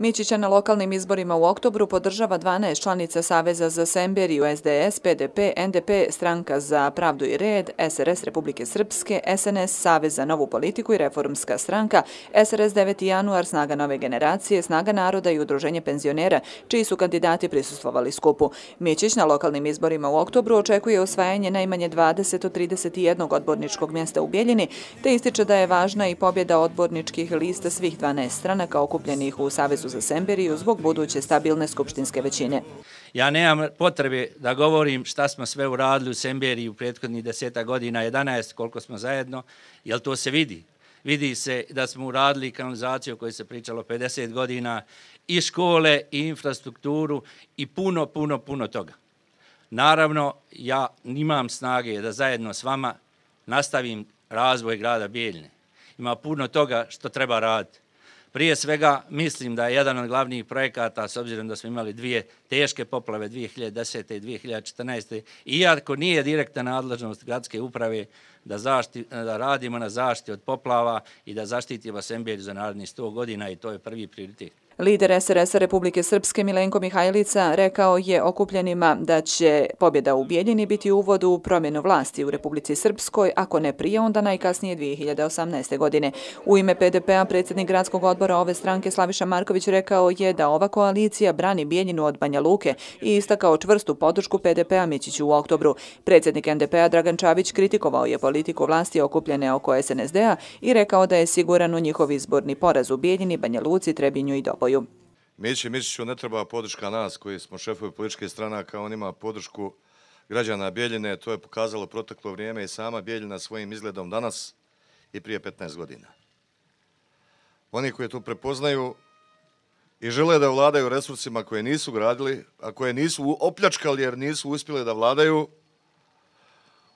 Mićića na lokalnim izborima u oktobru podržava 12 članica Saveza za Semberiju, SDS, PDP, NDP, Stranka za pravdu i red, SRS Republike Srpske, SNS, Savez za novu politiku i Reformska stranka, SRS 9. januar, Snaga nove generacije, Snaga naroda i Udruženje penzionera, čiji su kandidati prisustvovali skupu. Mićić na lokalnim izborima u oktobru očekuje osvajanje najmanje 20 od 31 odborničkog mjesta u Bijeljini, te ističe da je važna i pobjeda odborničkih lista svih 12 stranaka okupljenih u Savezu za Semberiju zbog buduće stabilne skupštinske većine. Ja nemam potrebe da govorim šta smo sve uradili u Semberiji u prethodnih 10 godina, 11 koliko smo zajedno, jer to se vidi. Vidi se da smo uradili kanalizaciju o kojoj se pričalo 50 godina, i škole, i infrastrukturu, i puno toga. Naravno, ja nimam snage da zajedno s vama nastavim razvoj grada Bijeljine. Ima puno toga što treba raditi. Prije svega mislim da je jedan od glavnih projekata, s obzirom da smo imali dvije teške poplave 2010. i 2014. iako nije direktna nadležnost gradske uprave da radimo na zaštiti od poplava i da zaštitimo Semberiju za narednih 100 godina i to je prvi prioritet. Lider SRS-a Republike Srpske Milenko Mihajlica rekao je okupljenima da će pobjeda u Bijeljini biti uvod u promjenu vlasti u Republici Srpskoj, ako ne prije, onda najkasnije 2018. godine. U ime PDP-a predsjednik gradskog odbora ove stranke Slaviša Marković rekao je da ova koalicija brani Bijeljinu od Banja Luke i istakao čvrstu podršku PDP-a Mićiću u oktobru. Predsjednik NDP-a Dragan Čavić kritikovao je politiku vlasti okupljene oko SNSD-a i rekao da je siguran u njihov izborni poraz u Bijeljini, Banja Luci, Trebinju i Doboju. Mićiću ne treba podrška nas koji smo šefovi političke stranaka, on ima podršku građana Bijeljine, to je pokazalo proteklo vrijeme i sama Bijeljina svojim izgledom danas i prije 15 godina. Oni koji to prepoznaju i žele da vladaju resursima koje nisu gradili, a koje nisu opljačkali jer nisu uspjeli da vladaju,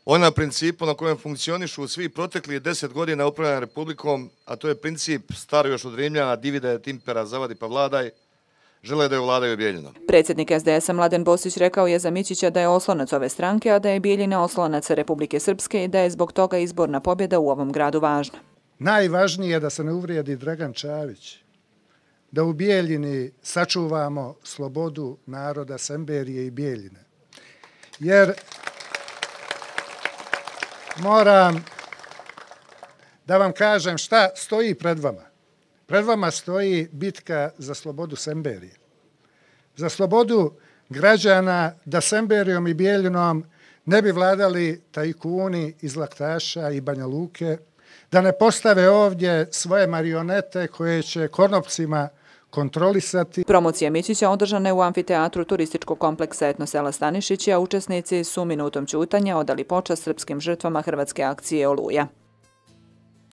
na principu na kojem funkcionišu svi protekli 10 godina upravljanja Republikom, a to je princip staro još od Rimljana, divide et impera, zavadi pa vladaj, žele da je vladaju Bijeljinom. Predsjednik SDS-a Mladen Bosić rekao je za Mićića da je oslonac ove stranke, a da je Bijeljina oslonac Republike Srpske i da je zbog toga izborna pobjeda u ovom gradu važna. Najvažnije je da se ne uvrijedi Dragan Čavić, da u Bijeljini sačuvamo slobodu naroda Semberije i Bijeljine. Jer moram da vam kažem šta stoji pred vama. Pred vama stoji bitka za slobodu Semberije. Za slobodu građana da Semberijom i Bijeljinom ne bi vladali tajkuni iz Laktaša i Banja Luke, da ne postave ovdje svoje marionete koje će konopcima kontrolisati. Promocija Mićića održana je u amfiteatru turističkog kompleksa Etno sela Stanišići, a učesnici su minutom ćutanja odali počast srpskim žrtvama hrvatske akcije Oluja.